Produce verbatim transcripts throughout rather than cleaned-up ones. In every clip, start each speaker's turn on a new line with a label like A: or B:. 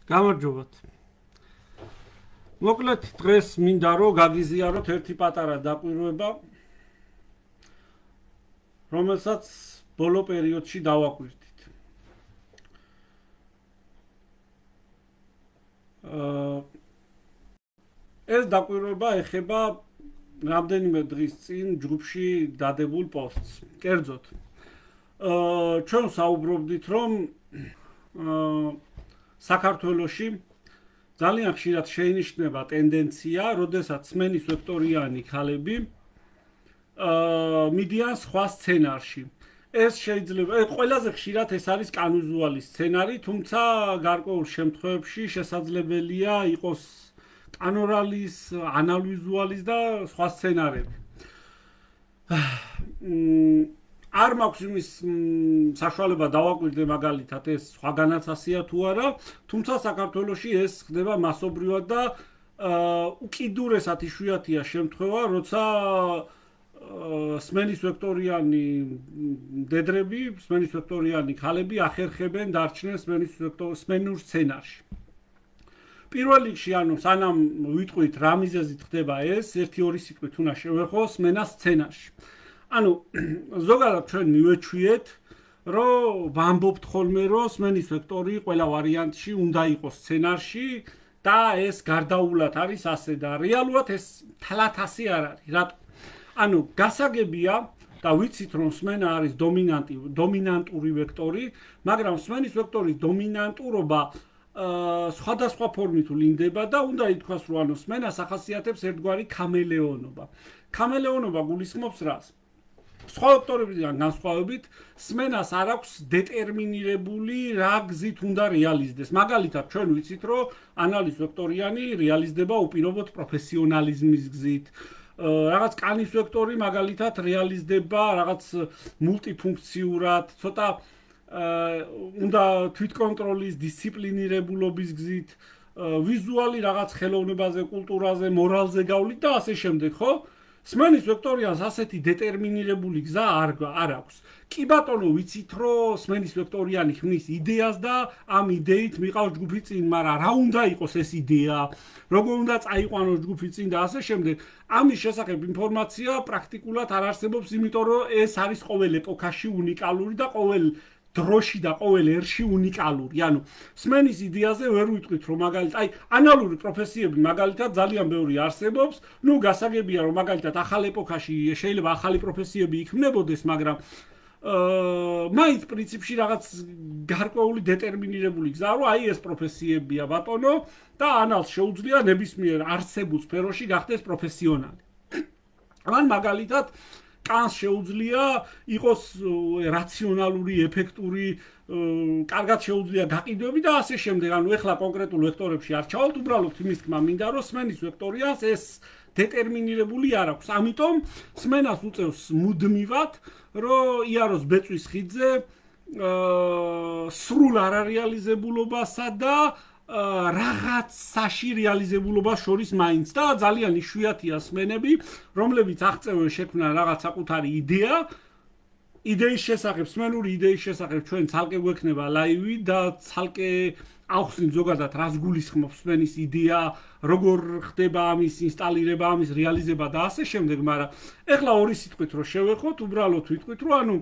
A: გამარჯობათ. მოკლედ დღეს მინდა რომ გაგიზიაროთ ერთი პატარა დაკვირვება, რომელსაც ბოლო პერიოდში დავაკვირდით. ეს დაკვირვება ეხება რამდენიმე დღის წინ ჯგუფში დადებულ პოსტს. კერძოდ, ჩვენ საუბრობდით, რომ საქართველოში ძალიან ხშირად შეინიშნება ტენდენცია, როდესაც სმენის ვექტორიანი ქალები მიდიან სხვა სცენარში. ეს შეიძლება, ყველაზე ხშირად ეს არის კანვიზუალი სცენარი, თუმცა გარკვეულ შემთხვევებში შესაძლებელია იყოს კანორალის, ანალვიზუალის და სხვა სცენარები. არ მაქვს იმის საშუალება დავაკვირდე მაგალითად ეს სხვაგანაც ასია თუ არა, თუმცა საქართველოში ეს ხდება მასობრივად და უკიდურესად იშვიათია შემთხვევა, როცა სმენის ვექტორიანი დედრები, სმენის ვექტორიანი ქალები ახერხებენ დარჩნენ სმენის სმენურ სცენარში. პირველ რიგში, ანუ სანამ ვიტყვით რა მიზეზით ხდება ეს, ერთი ორი სიტყვით უნდა შევეხო სმენას სცენარში. ანუ ზოგადად ჩვენ მივეჩვიეთ, რომ ვამბობთ ხოლმე, რომ სმენის ვექტორი ყველა ვარიანტში უნდა იყოს სცენარში და ეს გარდაულად არის ასე და რეალურად ეს თლათ ასე არ არის. რატო? ანუ გასაგებია და ვიცით, რომ სმენა არის დომინანტი, დომინანტური ვექტორი, მაგრამ სმენის ვექტორის დომინანტურობა სხვადასხვა ფორმით ვლინდება და უნდა ითქვას, რომ ანუ სმენას ახასიათებს ერთგვარი ქამელეონობა. ქამელეონობა გულისხმობს რას? სხვა ვექტორებიდან განსხვავებით, სმენას არ აქვს დეტერმინირებული რა გზით უნდა რეალიზდეს. მაგალითად, ჩვენ ვიცით, რომ ანალის ვექტორიანი რეალიზდება უპირობოდ პროფესიონალიზმის გზით. რაღაც კანის ვექტორი მაგალითად რეალიზდება რაღაც მულტიფუნქციურად, ცოტა უნდა თვითკონტროლის, დისციპლინირებულობის გზით, ვიზუალი რაღაც ხელოვნებაზე, კულტურაზე, მორალზე გავლით და ასე შემდეგ, ხო? სმენის ვექტორიანს ასეთი დეტერმინირებული გზა არ არ აქვს. კი ბატონო, ვიცით, რომ სმენის ვექტორიანი ხმის იდეას და ამ იდეით მიყავს ჯგუფი წინ, მაგრამ რა უნდა იყოს ეს იდეა, როგორ უნდა წაიყვანოს ჯგუფი წინ და ასე შემდეგ. ამის შესახებ ინფორმაცია პრაქტიკულად არ არსებობს, იმიტომ რომ ეს არის ყოველ ეპოქაში უნიკალური და ყოველ დროში და ყოველ ერში უნიკალური. ანუ სმენის იდეაზე ვერ ვიტყვით, რომ მაგალითად, აი, ანალური პროფესიები მაგალითად ძალიან ბევრი არსებობს. ნუ გასაგებია, რომ მაგალითად ახალ ეპოქაში შეიძლება ახალი პროფესიები იქმნებოდეს, მაგრამ აა მაინც პრინციპში რაღაც გარკვეული დეტერმინირებული გზა, რომ აი ეს პროფესიებია ბატონო და ანალს შეუძლია ნებისმიერ არსებულ სფეროში გახდეს პროფესიონალი. ან მაგალითად კანს შეუძლია იყოს რაციონალური, ეფექტური, კარგად შეუძლია გაყიდვები და ასე შემდეგ. ანუ ეხლა კონკრეტულ ვექტორებში არ ჩავალთ, უბრალოდ იმის თქმა მინდა, რომ სმენის ვექტორიას ეს დეტერმინირებული არ აქვს. ამიტომ სმენას უწევს მუდმივად, რომ იაროს ბეწვის ხიდზე სრულ არარეალიზებულობასა და რაღაცაში რეალიზებულობას შორის მაინც და ძალიან იშვიათია სმენები, რომლებიც აღწევენ შექმნა რაღაც საკუთარი იდეა. იდეის შესახებ, სმენური იდეის შესახებ ჩვენ ცალკე გვექნება ლაივი და ცალკე ავხსნით ზოგადად რას გულისხმობს სმენის იდეა, როგორ ხდება ამის ინსტალირება, ამის რეალიზება და ასე შემდეგ, მაგრამ ეხლა ორი სიტყვით რო შევეხოთ, უბრალოდ ვიტყვით, რომ ანუ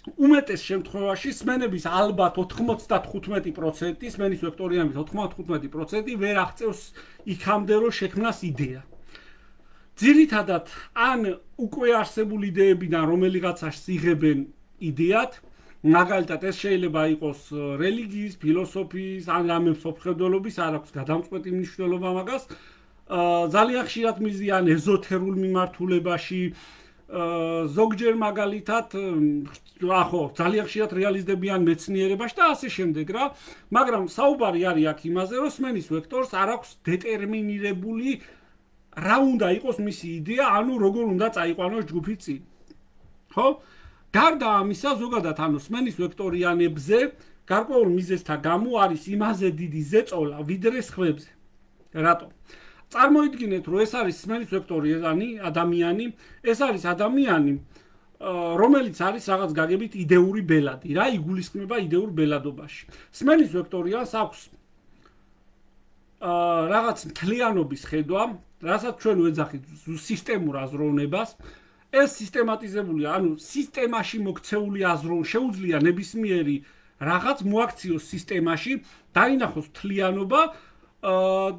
A: უმეტეს შემთხვევაში სმენების ალბათ ოთხმოცდათხუთმეტი პროცენტი, სმენის ვექტორიანების ოთხმოცდათხუთმეტი პროცენტი ვერ აღწევს იქამდე, რომ შექმნას იდეა. ძირითადად ან უკვე არსებული იდეებიდან რომელიღაცას იღებენ იდეად, მაგალითად ეს შეიძლება იყოს რელიგიის, ფილოსოფიის, ან რამე მსოფლმხედველობის, არ აქვს გადამწყვეტი მნიშვნელობა მაგას. ძალიან ხშირად მიზიან ეზოთერულ მიმართულებაში, ზოგჯერ მაგალითად ახო ძალიან ხშირად რეალიზდებიან მეცნიერებაში და ასე შემდეგ რა, მაგრამ საუბარი არის აქ იმაზე, რომ სმენის ვექტორს არ აქვს დეტერმინირებული რა უნდა იყოს მისი იდეა, ანუ როგორ უნდა წაიყვანოს ჯგუფი წინ. ხო? გარდა ამისა, ზოგადად ანუ სმენის ვექტორიანებზე გარკვეულ მიზეზთა გამო არის იმაზე დიდი ზეწოლა ვიდრე სხვებზე. რატო? წარმოიდგინეთ, რომ ეს არის სმენის ვექტორიანი ადამიანი, ეს არის ადამიანი, რომელიც არის რაღაც გაგებით იდეური ბელადი, რა იგულისხმება იდეურ ბელადობაში. სმენის ვექტორიანს აქვს რაღაც მთლიანობის ხედვა, რასაც ჩვენ ვეძახით სისტემურ აზროვნებას. ეს სისტემატიზებულია, ანუ სისტემაში მოქცეული აზროვნა შეუძლია ნებისმიერი რაღაც მოაქციოს სისტემაში, დაინახოს მთლიანობა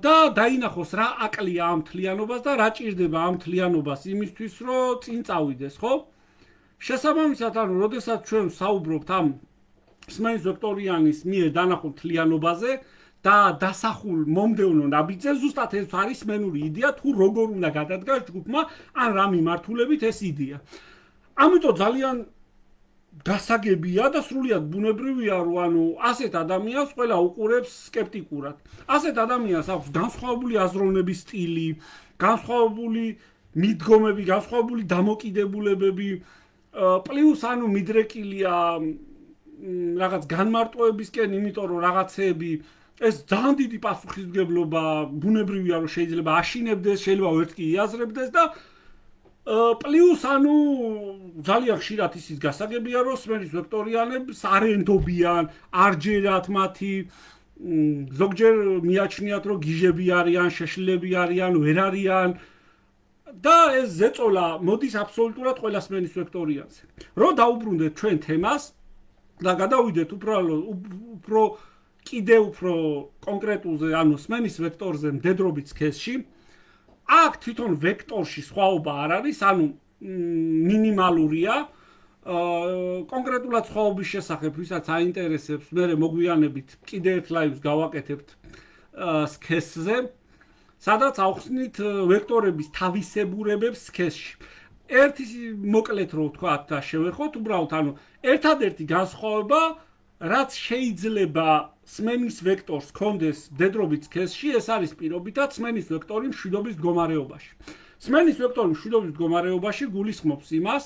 A: და დაინახოს რა აკლია ამ მთლიანობას და რა ჭირდება ამ მთლიანობას იმისთვის, რომ წინ წავიდეს, ხო? შესაბამისად, ანუ როდესაც ჩვენ საუბრობთ ამ სმენის ვექტორიანის მიერ დანახულ მთლიანობაზე და დასახულ მომდევნო ნაბიჯზე, ზუსტად ეს არის სმენური იდეა, თუ როგორ უნდა გადადგას ჯგუფმა ან რა მიმართულებით ეს იდეა. ამიტომ ძალიან გასაგებია და სრულიად ბუნებრივია, რომ ანუ ასეთ ადამიანს ყველა უყურებს სკეპტიკურად. ასეთ ადამიანს აქვს განსხვავებული აზროვნების სტილი, განსხვავებული მიდგომები, განსხვავებული დამოკიდებულებები, პლუს ანუ მიდრეკილია რაღაც განმარტოებისკენ, იმიტომ რომ რაღაცეები ეს ძალიან დიდი პასუხისმგებლობა ბუნებრივია, რომ შეიძლება აშინებდეს, შეიძლება ვერც კი იაზრებდეს და პლუს ანუ ძალიან ხშირად ისიც გასაგებია, რომ სმენის ვექტორიანებს არ ენდობიან, არ ჯერათ მათი, ზოგჯერ მიაჩნიათ, რომ გიჟები არიან, შეშლილები არიან, ვერ არიან და ეს ზეწოლა მოდის აბსოლუტურად ყველა სმენის ვექტორიანზე. რომ დაუბრუნდეთ ჩვენ თემას და გადავიდეთ უბრალოდ უფრო კიდე უფრო კონკრეტულზე, ანუ სმენის ვექტორზე მდედრობით სქესში, აქ თვითონ ვექტორში სხვაობა არ არის, ანუ მინიმალურია. კონკრეტულად სხვაობის შესახებ, ვისაც აინტერესებს, მე მოგვიანებით კიდე ერთ ლაივს გავაკეთებთ სქესზე, სადაც ავხსნით ვექტორების თავისებურებებს სქესში. ერთი მოკლედ რო ვთქვათ და შევეხოთ, უბრალოდ ანუ ერთადერთი განსხვავება, რაც შეიძლება სმენის ვექტორს ჰქონდეს მდედრობით სქესში, ეს არის პირობითად სმენის ვექტორი მშვიდობის მდგომარეობაში. სმენის ვექტორი მშვიდობის მდგომარეობაში გულისხმობს იმას,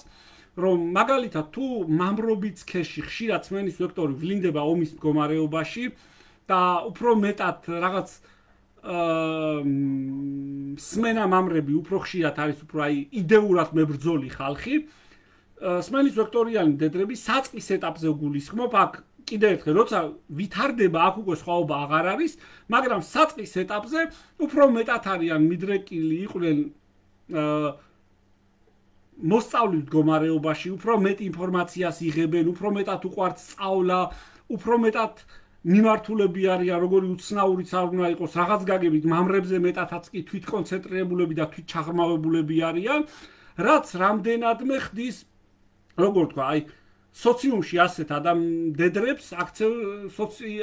A: რომ მაგალითად თუ მამრობით სქესში ხშირად სმენის ვექტორი ვლინდება ომის მდგომარეობაში და უფრო მეტად რაღაც სმენა მამრები უფრო ხშირად არის უფრო აი იდეურად მებრძოლი ხალხი, სმენის ვექტორიანი მდედრები საწყის ეტაპზე გულისხმობ, აქ კიდევ ერთხელ, როცა ვითარდება, აქ უკვე სხვაობა აღარ არის, მაგრამ საწყის ეტაპზე უფრო მეტად არიან მიდრეკილი, იყვნენ მოსწავლის მდგომარეობაში, უფრო მეტ ინფორმაციას იღებენ, უფრო მეტად უყვართ სწავლა, უფრო მეტად მიმართულები არიან, როგორი უცნაურიც არ უნდა იყოს, რაღაც გაგებით მამრებზე მეტადაც კი თვითკონცენტრირებულები და თვითჩაღრმავებულები არიან, რაც რამდენადმე ხდის, როგორ თქვა, აი სოციუმში ასეთ ადამიანებს აქცევ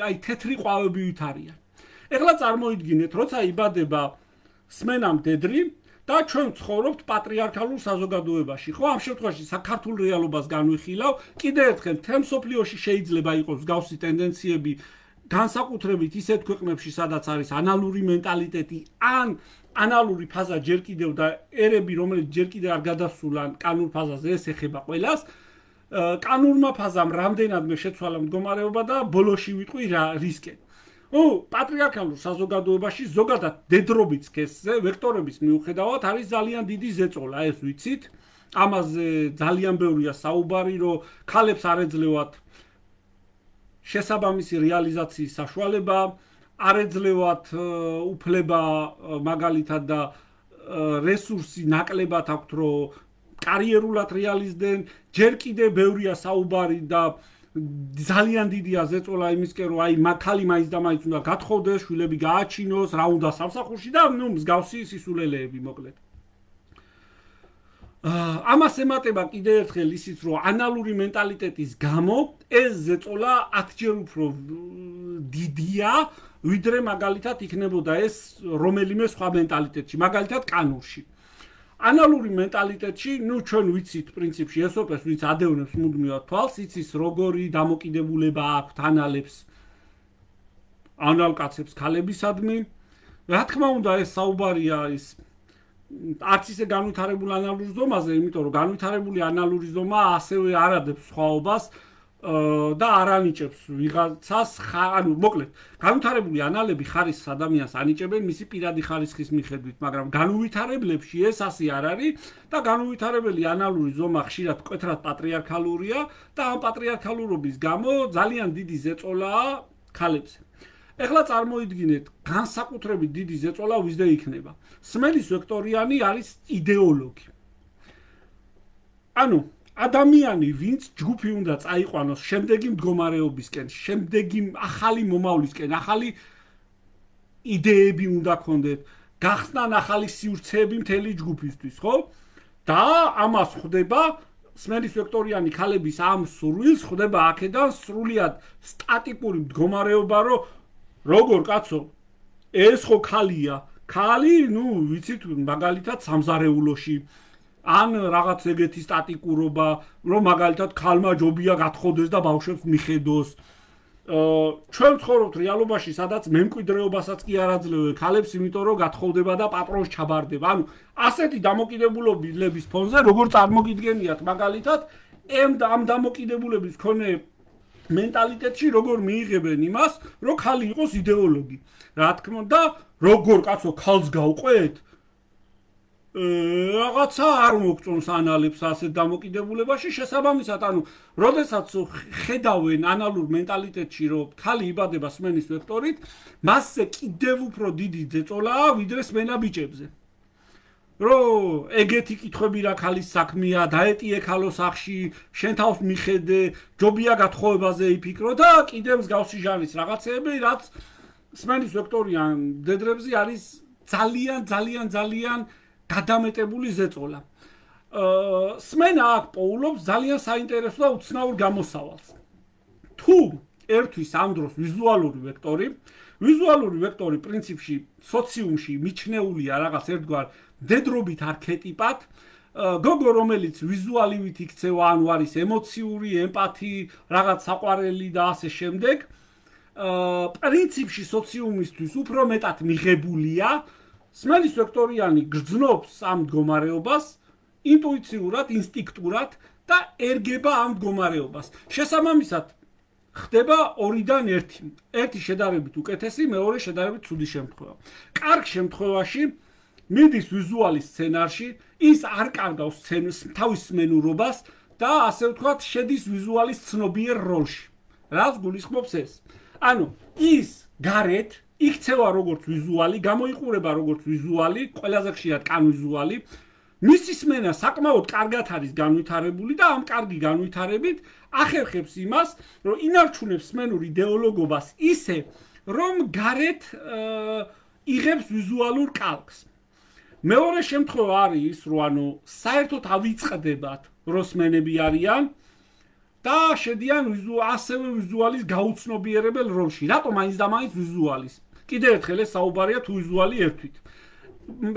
A: აი თეთრი ყვავებივით არიან. ეხლა წარმოიდგინეთ, როცა იბადება სმენა მდედრი და ჩვენ ცხოვრობთ პატრიარქალურ საზოგადოებაში, ხო? ამ შემთხვევაში საქართველოს რეალობას განვიხილავ, კიდევ ერთხელ თემ სოფლიოში შეიძლება იყოს მსგავსი ტენდენციები, განსაკუთრებით ისეთ ქვეყნებში, სადაც არის ანალური მენტალიტეტი, ან ანალური ფაზა ჯერ კიდევ და ერები, რომელიც ჯერ კიდევ არ გადასულან კანურ ფაზაზე, ეს ეხება ყველას. კანურმა ფაზამ რამდენადმე შეცვალა მდგომარეობა და ბოლოში ვიტყვი რა რისკი. ო, პატრიარქალურ საზოგადოებაში ზოგადად მდედრობით სქესზე ვექტორების მიუხედავად არის ძალიან დიდი ზეწოლა, ეს ვიცით. ამაზე ძალიან ბევრია საუბარი, რომ ქალებს არ ეძლევათ შესაბამისი რეალიზაციის საშუალება, არ ეძლევათ უფლება მაგალითად და რესურსი ნაკლებად აქვთ, რომ კარიერულად რეალიზდნენ, ჯერ კიდევ ბევრია საუბარი და ძალიან დიდია ზეწოლა იმისკენ, რომ აი მაგალი მაინც და მაინც უნდა გათხოვდეს, შვილები გააჩინოს, რა უნდა სამსახურში და ნუ მსგავსი სისულელეები მოკლედ. ამას ემატება კიდევ ერთხელ ისიც, რომ ანალური მენტალიტეტის გამო ეს ზეწოლა ათჯერ უფრო დიდია, ვიდრე მაგალითად იქნებოდა ეს რომელიმე სხვა მენტალიტეტში, მაგალითად კანურში. ანალური მენტალიტეტში, ნუ ჩვენ ვიცით პრინციპში ესოპეს, ვინც ადევნებს მუდმივად თვალს, იცის როგორი დამოკიდებულება აქვთ ანალებს, ანალკაცებს ქალებისადმი. რა თქმა უნდა, ეს საუბარია ის არც ისე განვითარებული ანალური ზომაზე, იმიტომ რომ განვითარებული ანალური ზომა ასევე არ ადებს სხვაობას და არ ანიჭებს ვიღაცას, ანუ მოკლედ, განვითარებული ანალები ხარისხს ადამიანს ანიჭებენ მისი პირადი ხარისხის მიხედვით, მაგრამ განუვითარებლებში ეს ასე არ არის და განუვითარებელი ანალური ზომა ხშირად მკვეთრად პატრიარქალურია და ამ პატრიარქალურობის გამო ძალიან დიდი ზეწოლაა ქალებზე. ეხლა წარმოიდგინეთ, განსაკუთრებით დიდი ზეწოლა ვიზდე იქნება. სმენის ვექტორიანი არის იდეოლოგი. ანუ ადამიანი, ვინც ჯგუფი უნდა წაიყვანოს შემდეგი მდგომარეობისკენ, შემდეგი ახალი მომავლისკენ, ახალი იდეები უნდა ქონდეთ, გახსნან ახალი სივრცეები მთელი ჯგუფისთვის, ხო? და ამას ხვდება სმენის ვექტორიანი ქალების ამ სურვილს ხვდება აქედან სრულიად სტატიკური მდგომარეობა, რომ როგორ კაცო, ეს ხო ქალია, ქალი, ნუ ვიცით, მაგალითად სამზარეულოში ან რაღაც ეგეთი სტატიკურობა, რომ მაგალითად ქალმა ჯობია გათხოვდეს და ბავშვებს მიხედოს. ჩვენ ვცხოვრობთ რეალობაში, სადაც მემკვიდრეობასაც კი არ აძლევენ ქალებს, იმიტომ რომ გათხოვდება და პატრონს ჩაბარდება. ანუ ასეთი დამოკიდებულების ფონზე, როგორ წარმოგიდგენიათ მაგალითად, ამ დამოკიდებულების მქონე მენტალიტეტში როგორ მიიღებენ იმას, რომ ქალი იყოს იდეოლოგი. რა თქმა უნდა, როგორ კაცო ქალს გავყვეთ? რაღაცა არ მოგწონს ანალებს ასეთ დამოკიდებულებაში, შესაბამისად, ანუ, როდესაც ხედავენ ანალურ მენტალიტეტში, რომ ქალი იბადება სმენის ვექტორით, მასზე კიდევ უფრო დიდი ზეწოლაა, ვიდრე სმენა ბიჭებზე. რომ ეგეთი კითხვები რა ქალის საქმეა, დაეტიე ქალო სახში, შენ თავს მიხედე, ჯობია გათხოვებაზე იფიქრო და კიდევ მსგავსი ჟანრის რაღაცეები, რაც სმენის ვექტორიან მდედრებზე არის ძალიან, ძალიან, ძალიან გადამეტებული ზეწოლა. სმენა აქ პოულობს ძალიან საინტერესო და უცნაურ გამოსავალს. თუ ერთვის ამ დროს ვიზუალური ვექტორი, ვიზუალური ვექტორი პრინციპში სოციუმში მიჩნეულია რაღაც ერთგვარ მდედრობით არქეტიპად, გოგო რომელიც ვიზუალივით იქცევა, ანუ არის ემოციური, ემპათი, რაღაც საყვარელი და ასე შემდეგ, პრინციპში სოციუმისთვის უფრო მეტად მიღებულია, სმენის ვექტორიანი გრძნობს ამ მდგომარეობას ინტუიციურად, ინსტინქტურად და ერგება ამ მდგომარეობას. შესაბამისად, ხდება ორიდან ერთი. ერთი შედარებით უკეთესი, მეორე შედარებით ცუდი შემთხვევა. კარგ შემთხვევაში მიდის ვიზუალის სცენარში, ის არ კარგავს თავის სმენურობას და ასე ვთქვათ, შედის ვიზუალის ცნობიერ როლში. რაც გულისხმობს ეს? ანუ ის გარეთ იქცევა როგორც ვიზუალი, გამოიყურება როგორც ვიზუალი, ყველაზე ხშირად კან ვიზუალი. მისი სმენა საკმაოდ კარგად არის განვითარებული და ამ კარგი განვითარებით ახერხებს იმას, რომ ინარჩუნებს სმენურ იდეოლოგობას ისე, რომ გარეთ იღებს ვიზუალურ კალკს. მეორე შემთხვევა არის ის, რომ ანუ საერთოდ ავიწყდებათ, რომ სმენები არიან და შედიან ასევე ვიზუალის გაუცნობიერებელ როლში. რატომ მაინც და მაინც ვიზუალის? კიდევ ერთხელ ეს საუბარია თუ ვიზუალი ერთვით.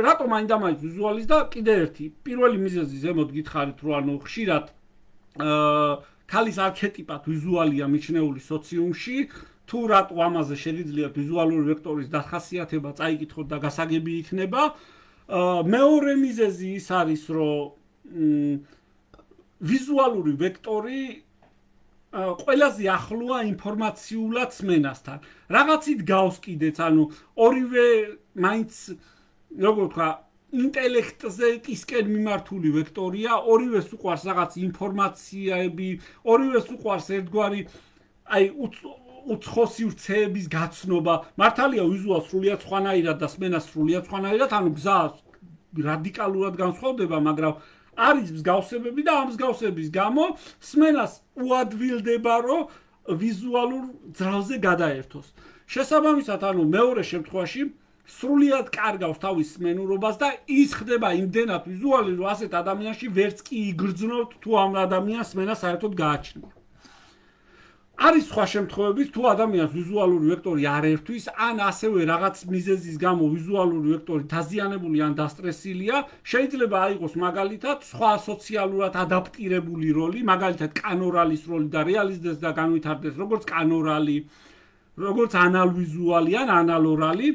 A: რატომ მაინც და მაინც ვიზუალის და კიდევ ერთი. პირველი მიზეზი ზემოთ გითხარით, რომ ანუ ხშირად ქალის არქეტიპად ვიზუალია მიჩნეული სოციუმში, თუ რატო ამაზე შეიძლება ვიზუალური ვექტორის დახასიათება წაიკითხოთ და გასაგები იქნება. მეორე მიზეზი ის არის, რომ ვიზუალური ვექტორი ყველაზე ახლოა ინფორმაციულად სმენასთან. რაღაცით გავს კიდეც, ანუ ორივე მაინც როგორ ვთქვა, ინტელექტზე ტისკენ მიმართული ვექტორია, ორივეს უყვარს რაღაც ინფორმაციები, ორივეს უყვარს ერთგვარი აი უცხო სივრცეების გაცნობა. მართალია ვიზუალს სრულიად სხვანაირად და სმენას სრულიად სხვანაირად, ანუ გზა რადიკალურად განსხვავდება, მაგრამ არის მსგავსებები და ამ მსგავსების გამო სმენას უადვილდება, რომ ვიზუალურ ძრავზე გადაერთოს. შესაბამისად, ანუ მეორე შემთხვევაში სრულიად კარგავს თავის სმენურობას და ის ხდება იმდენად ვიზუალი, რომ ასეთ ადამიანში ვერც კი იგრძნობთ, თუ ამ ადამიანს სმენა საერთოდ გააჩნია. არის სხვა შემთხვევები, თუ ადამიანს ვიზუალური ვექტორი არ ერთვის, ან ასევე რაღაც მიზეზის გამო ვიზუალური ვექტორი დაზიანებული ან დასტრესილია, შეიძლება აიღოს მაგალითად სხვა სოციალურად ადაპტირებული როლი, მაგალითად კანორალის როლი და რეალიზდეს და განვითარდეს როგორც კანორალი, როგორც ანალვიზუალი ან ანალორალი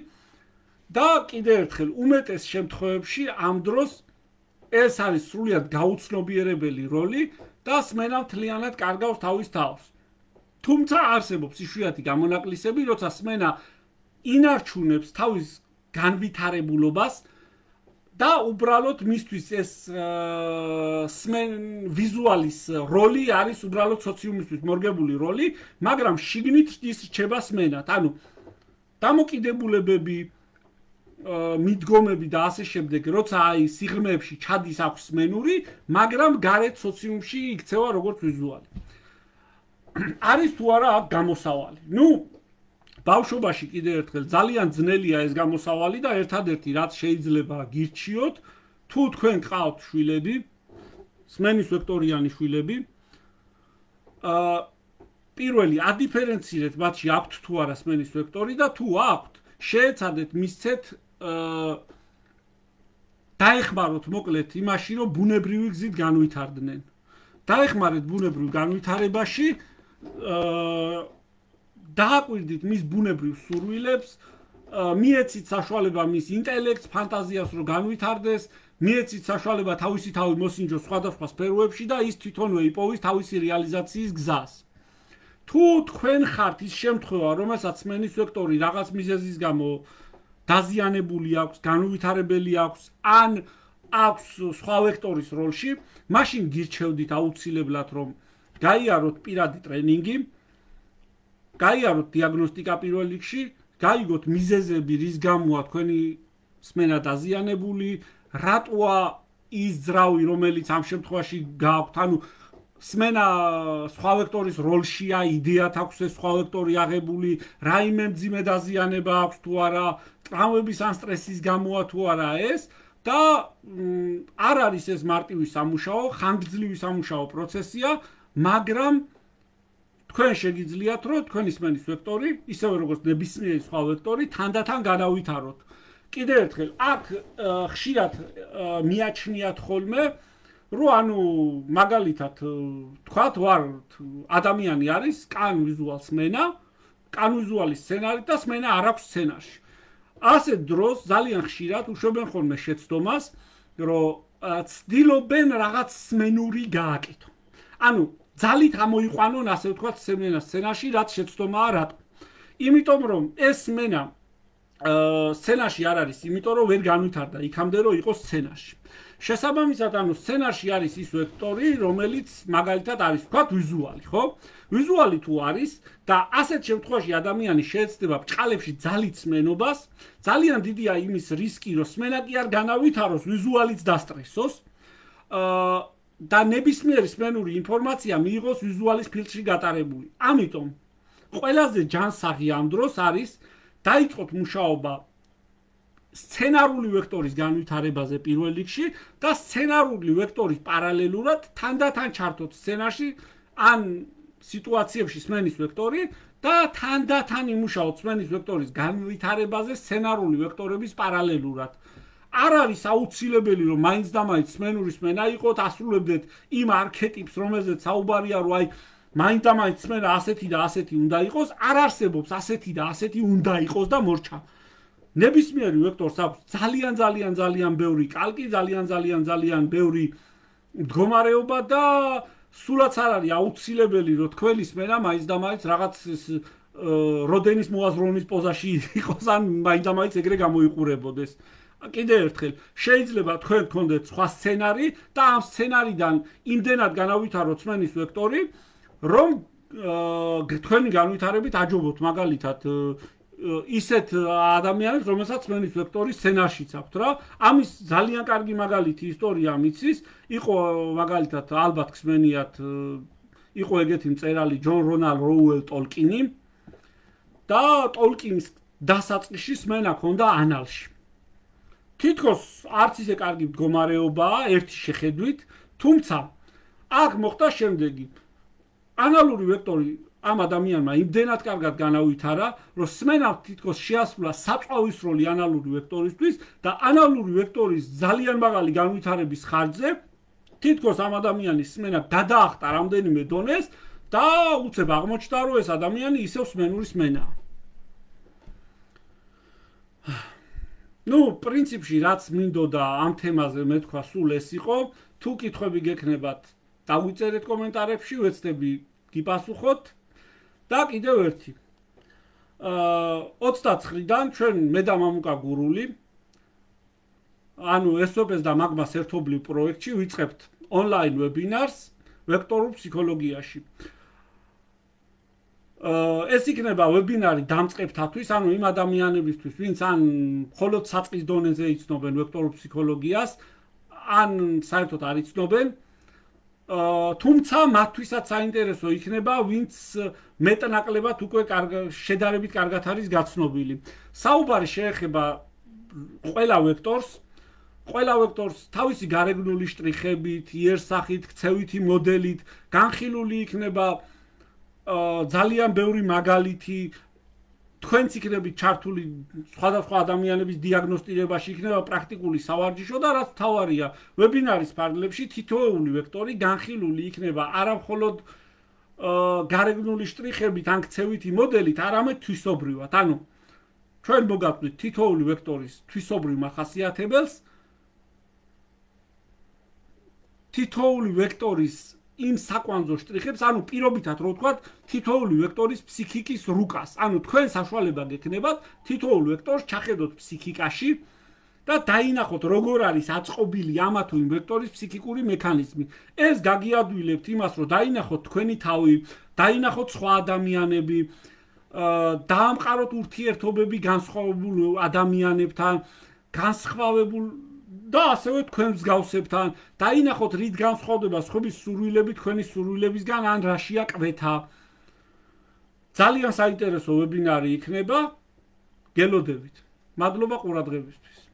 A: და კიდევ ერთხელ უმეტეს შემთხვევებში ამ დროს ეს არის სრულიად გაუცნობიერებელი როლი და სმენა მთლიანად კარგავს თავის თავს. თუმცა არსებობს იშვიათი გამონაკლისები, როცა სმენა ინარჩუნებს თავის განვითარებულობას და უბრალოდ მისთვის ეს სმენ ვიზუალის როლი არის უბრალოდ სოციუმისთვის მორგებული როლი, მაგრამ შიგნით ის რჩება სმენად. ანუ დამოკიდებულებები, მიდგომები და ასე შემდეგ, როცა აი სიღრმეებში ჩადის აქვს სმენური, მაგრამ გარეთ სოციუმში იქცევა როგორც ვიზუალი. არის თუ არა აქ გამოსავალი. ნუ ბავშვობაში კიდევ ერთხელ ძალიან ძნელია ეს გამოსავალი და ერთადერთი რაც შეიძლება გირჩიოთ, თუ თქვენ გყავთ შვილები, სმენის ვექტორიანი შვილები, აა პირველი ადიფერენცირეთ მათში აქვთ თუ არა სმენის ვექტორი და თუ აქვთ, შეეცადეთ მისცეთ აა დაეხმაროთ მოკლედ იმაში, რომ ბუნებრივი გზით განვითარდნენ. დაეხმარეთ ბუნებრივ განვითარებაში, აა დააკვირდით მის ბუნებრივ სურვილებს, მიეცით საშუალება მის ინტელექტს, ფანტაზიას რომ განვითარდეს, მიეცით საშუალება თავისი თავი მოსინჯოს სხვადასხვა სფეროებში და ის თვითონვე იპოვის თავისი რეალიზაციის გზას. თუ თქვენ ხართ ის შემთხვევა, რომელსაც სმენის ვექტორი რაღაც მიზეზის გამო დაზიანებული აქვს, განუვითარებელი აქვს, ან აქვს სხვა ვექტორის როლში, მაშინ გირჩევდით აუცილებლად რომ გაიაროთ პირადი ტრენინგი, გაიაროთ დიაგნოსტიკა პირველ რიგში, გაიგოთ მიზეზები, რის გამოა თქვენი სმენა დაზიანებული, რატოა ის ძრავი, რომელიც ამ შემთხვევაში გააქვთ, ანუ სმენა სხვა ვექტორის როლშია, იდეათ აქვს ეს სხვა ვექტორი აღებული, რაიმე მძიმე დაზიანება აქვს თუ არა, ტრავმების ან სტრესის გამოა თუ არა ეს და არ არის ეს მარტივი სამუშაო, ხანგრძლივი სამუშაო პროცესია, მაგრამ თქვენ შეგიძლიათ რომ თქვენი სმენის ვექტორი, ისევე როგორც ნებისმიერი სხვა ვექტორი, თანდათან განავითაროთ. კიდევ ერთხელ, აქ ხშირად მიაჩნიათ ხოლმე, რომ ანუ მაგალითად თქვათ ვარ ადამიანი არის კან ვიზუალ სმენა, კან ვიზუალის სცენარი და სმენა არ აქვს სცენარში. ასეთ დროს ძალიან ხშირად უშვებენ ხოლმე შეცდომას, რომ ცდილობენ რაღაც სმენური გააკეთონ. ანუ ძალით ამოიყვანონ, ასე ვთქვათ, სმენა სცენარში, რაც შეცდომაა რატო. იმიტომ რომ ეს სმენა სცენარში არ არის, იმიტომ რომ ვერ განვითარდა იქამდე რომ იყოს სცენარში. შესაბამისად, ანუ სცენარში არის ის ვექტორი, რომელიც მაგალითად არის, ვთქვათ, ვიზუალი, ხო? ვიზუალი თუ არის და ასეთ შემთხვევაში ადამიანი შეეცდება ბჭყალებში ძალით სმენობას, ძალიან დიდია იმის რისკი, რომ სმენა კი არ განავითაროს, ვიზუალიც დასტრესოს. აა და ნებისმიერი სმენური ინფორმაცია მიიღოს ვიზუალის ფილტრში გატარებული. ამიტომ ყველაზე ჯანსაღი ამ დროს არის დაიწყოთ მუშაობა სცენარული ვექტორის განვითარებაზე პირველ რიგში და სცენარული ვექტორის პარალელურად თანდათან ჩართოთ სცენარში ან სიტუაციებში სმენის ვექტორი და თანდათან იმუშაოთ სმენის ვექტორის განვითარებაზე სცენარული ვექტორების პარალელურად. არ არის აუცილებელი რომ მაინც და მაინც სმენური სმენა იყოთ, ასრულებდეთ იმ არქეტიპს, რომელზეც საუბარია, რომ აი მაინც და მაინც სმენა ასეთი და ასეთი უნდა იყოს, არ არსებობს ასეთი და ასეთი უნდა იყოს და მორჩა. ნებისმიერი ვექტორს აქვს ძალიან ძალიან ძალიან ბევრი კალკი, ძალიან ძალიან ძალიან ბევრი მდგომარეობა და სულაც არ არის აუცილებელი რომ თქვენი სმენა მაინც და მაინც რაღაც როდენის მოაზროვნის პოზაში იყოს ან მაინც და მაინც ეგრე გამოიყურებოდეს. კიდევ ერთხელ, შეიძლება თქვენ გქონდეთ სხვა სცენარი და ამ სცენარიდან იმდენად განავითაროთ სმენის ვექტორი, რომ თქვენი განვითარებით აჯობოთ მაგალითად ისეთ ადამიანებს, რომელსაც სმენის ვექტორი სცენარშიც აქვთ რა. ამის ძალიან კარგი მაგალითი ისტორია მიცის, იყო მაგალითად ალბათ ხსმენიათ, იყო ეგეთი მწერალი ჯონ რონალდ როუელ ტოლკინი და ტოლკინის დასაწყისში სმენა ჰქონდა ანალში. თითქოს არც ისე კარგი მდგომარეობაა ერთი შეხედვით, თუმცა აქ მოხდა შემდეგი. ანალური ვექტორი ამ ადამიანმა იმდენად კარგად განავითარა, რომ სმენამ თითქოს შეასრულა საწვავის როლი ანალური ვექტორისთვის და ანალური ვექტორის ძალიან მაღალი განვითარების ხარჯზე თითქოს ამ ადამიანის სმენა გადაახტა რამდენიმე დონეს და უცებ აღმოჩნდა, რომ ეს ადამიანი ისევ სმენური სმენაა. ნუ, პრინციპში რაც მინდოდა ამ თემაზე მეთქვა სულ ეს იყო, თუ კითხვები გექნებათ, დავიწერეთ კომენტარებში, ვეცდები გიპასუხოთ. და კიდევ ერთი. აა ოცდაცხრიდან ჩვენ მე და მამუკა გურული ანუ ეს ო პი ეს და მაგმას ერთობლივ პროექტში ვიწყებთ ონლაინ ვებინარს ვექტორულ ფსიქოლოგიაში. ეს იქნება ვებინარი დამწყებთათვის, ანუ იმ ადამიანებისთვის, ვინც ან მხოლოდ საწყის დონეზე იცნობენ ვექტორულ ფსიქოლოგიას, ან საერთოდ არ იცნობენ, თუმცა მათთვისაც საინტერესო იქნება, ვინც მეტნაკლებად უკვე შედარებით კარგად არის გაცნობილი. საუბარი შეეხება ყველა ვექტორს, ყველა ვექტორს თავისი გარეგნული შტრიხებით, იერსახით, ქცევითი მოდელით, განხილული იქნება ძალიან ბევრი მაგალითი, თქვენც იქნებით ჩართული სხვადასხვა ადამიანების დიაგნოსტირებაში, იქნება პრაქტიკული სავარჯიშო და რაც თავარია, ვებინარის ფარგლებში თითოეული ვექტორი განხილული იქნება არა მხოლოდ გარეგნული შტრიხებით ან ქცევითი მოდელით, არამედ თვისობრივად. ანუ ჩვენ მოგაყვით თითოეული ვექტორის თვისობრივ მახასიათებელს, თითოეული ვექტორის იმ საკვანძო შტრიხებს, ანუ პირობითად რო ვთქვათ, თითოეული ვექტორის ფსიქიკის რუკას. ანუ თქვენ საშუალება გექნებათ თითოეულ ვექტორს ჩახედოთ ფსიქიკაში და დაინახოთ როგორ არის აწყობილი ამა თუ იმ ვექტორის ფსიქიკური მექანიზმი. ეს გაგიადვილებთ იმას, რომ დაინახოთ თქვენი თავი, დაინახოთ სხვა ადამიანები, დაამყაროთ ურთიერთობები განსხვავებულ ადამიანებთან, განსხვავებულ და ასევე თქვენ მსგავსებთან, დაინახოთ რით განსხვავდება სხვების სურვილები თქვენი სურვილებისგან ან რაშია კვეთა. ძალიან საინტერესო ვებინარი იქნება. გელოდებით. მადლობა ყურადღებისთვის.